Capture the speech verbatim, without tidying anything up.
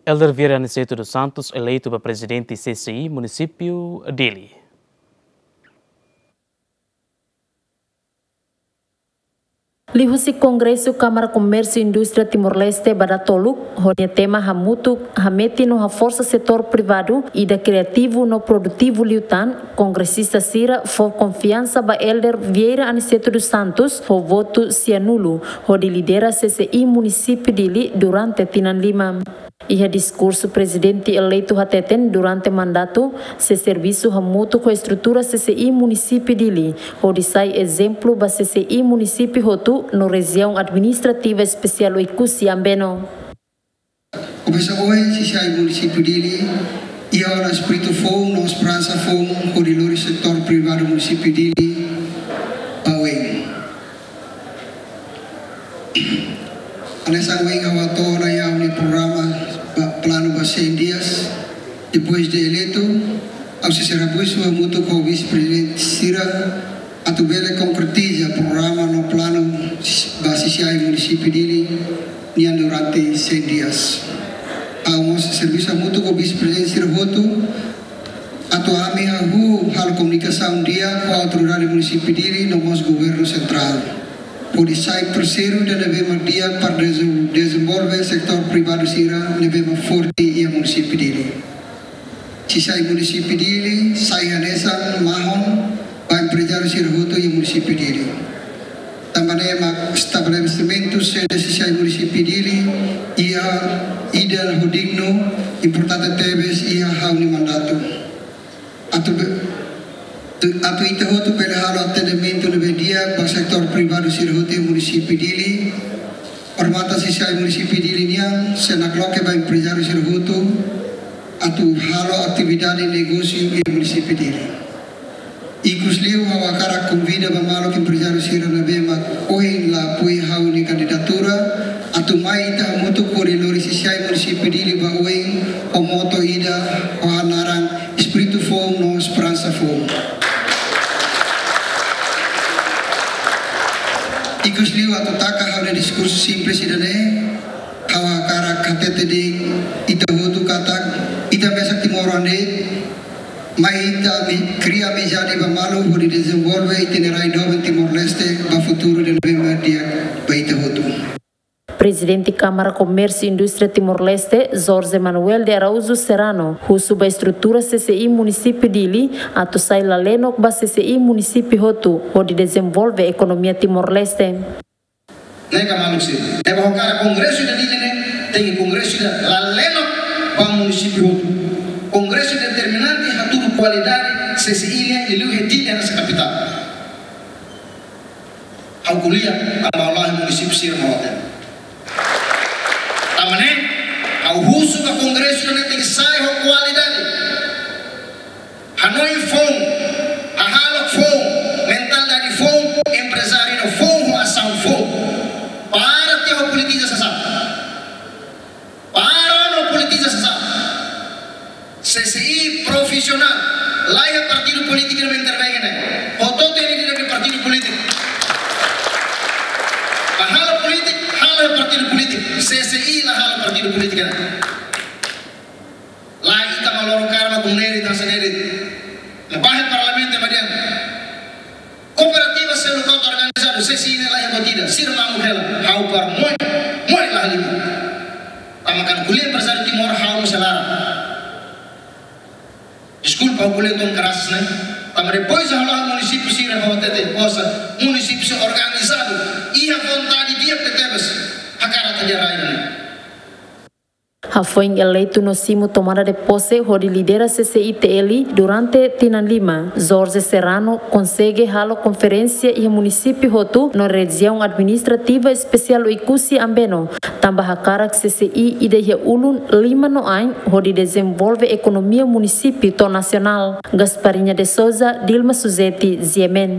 Elder Vieira Aniceto dos Santos eleitu ba prezidente C C I munisípiu Dili. Liuhusi Kongresu Kámara Komérsiu Indústria Timor-Leste ba datoluk, ho nia tema hamutuk, hametin no haforsa setór privadu ida kriativu no produtivu liután, kongresista sira fó konfiansa ba Elder Vieira Aniceto dos Santos ho votu sianulu, hodi lidera C C I munisípiu Dili durante tinan lima. Iha diskursu, prezidente eleitu hateten durante mandatu sei servisu hamutuk ho estrutura C C I munisípiu Dili, hodi sai ezemplu ba C C I munisípiu hotu no Rejiaun Administrativa Espesiál Oekusi Ambeno. Komesa ohin, C C I munisípiu Dili iha ona espíritu foun no esperansa foun hodi lori setór privadu munisípiu Dili ba oin. Hanesan ohin ha'u hato'o ona iha ha'u-nia programa ba, planu ba cem dias, depois de eleitu, ha'u sei servisu hamutuk ho vise-prezidente sira atu bele konkretiza programa no planu ba C C I munisípiu Dili nian durante cem dias. Ha'u mós servisu hamutuk ho vise-prezidente sira hotu atu ami hahú halo komunikasaun di'ak ho autoridade munisípiu Dili no mós governu sentrál, hodi sai parseiru ida ne'ebé mak di'ak para deze-, dezenvolve setór privadu sira ne'ebé mak forte iha munisípiu Dili. C C I munisípiu Dili sai hanesan mahon ba emprezáriu sira hotu iha munisípiu Dili. Tanba ne'e mak estabelesimentu sede C C I munisípiu Dili iha ida ho dignu, importante tebes iha ha'u-nia mandatu. Atu be-, tu-, atu ita hotu bele halo atendimentu ne'ebé di'ak ba setór privadu sira hotu iha munisípiu Dili. Hormata C C I munisípiu Dili nian sei nakloke ba emprezáriu sira hotu atu halo atividade negósiu iha munisípiu Dili. Ikusliu ha'u hakarak konvida ba maluk emprezáriu sira ne'ebé mak ohin la apoia ha'u-nia kandidatura, atu mai ita hamutuk hodi lori C C I munisípiu Dili ba oin ho moto ida ho naran espíritu foun no esperansa foun. Ikusliu atu taka ha'u-nia diskursu simples ida-ne'e, ha'u hakarak hatete de'it ita hotu katak ita mesak timoroan de'it, mai ita ami-, kria amizade ba malu hodi dezenvolve ita-nia rai doben Timor-Leste ba futuru ida ne'ebé mak di'ak ba ita hotu. Prezidente Kámara Komérsiu Indústria Timor-Leste, Jorge Manuel de Araújo Serrano, husu ba estrutura C C I munisípiu Dili atu sai lalenok ba C C I munisípiu hotu, hodi dezenvolve ekonomia Timor-Leste. Ne'e ka maluk sira. Ne'ebé ha'u hakarak kongresu ida Dili ne'e, tenke kongresu ida lalenok ba munisípiu hotu. Kongresu determinante hatudu kualidade C C I nian iha Dili hanesan kapitál. Ha'u ko'alia tanba ha'u la'o iha munisípiu sira-ne'e. Tanba ne'e, ha'u husu ba kongresu ne'e tenke sai ho kualidade. Hanoin foun, hahalok foun, mentalidade foun, emprezáriu foun, ho asaun foun. Para tiha ho politiza sasán. Para no politiza sasán. C C I profisionál, la iha partidu polítiku ida mak intervenge ne'e. Hotu-hotu iha nia partidu polítiku. Ba halo polítika, halo partidu polítiku. C C I la halo partidu polítiku ne'e. La ita mak loron kalan mak ne'e de'it, hanesan ne'e de'it. Ne'ebé iha parlamentu ba dehan kooperativa seluk ka organizadu, C C I ne'e la iha buat ida, sira mamuk hela, ha'u para moe, moe la halimar. Tanba kan ko'alia emprezáriu Timor ha'u mós sei laran. Deskulpa, ha'u ko'alia tun keras ne'e. Tanba depois ha'u la'o munisípiu sira ha'u hatete, poxa, munisípiu organizadu, iha vontade di'ak tebes, hakarak atu rai ne'e. Hafoin eleitu no simu tomada de pose hodi lidera C C I T L durante tinan lima, Jorge Serrano konsege halo konferénsia iha munisípiu hotu no Rejiaun Administrativa Espesiál Oekusi Ambeno, tanba hakarak C C I ida iha ulun lima no ain hodi dezenvolve ekonomia munisípiu to'o nasionál. Gasparinha de Souza, Dilma Suzeti, G M N.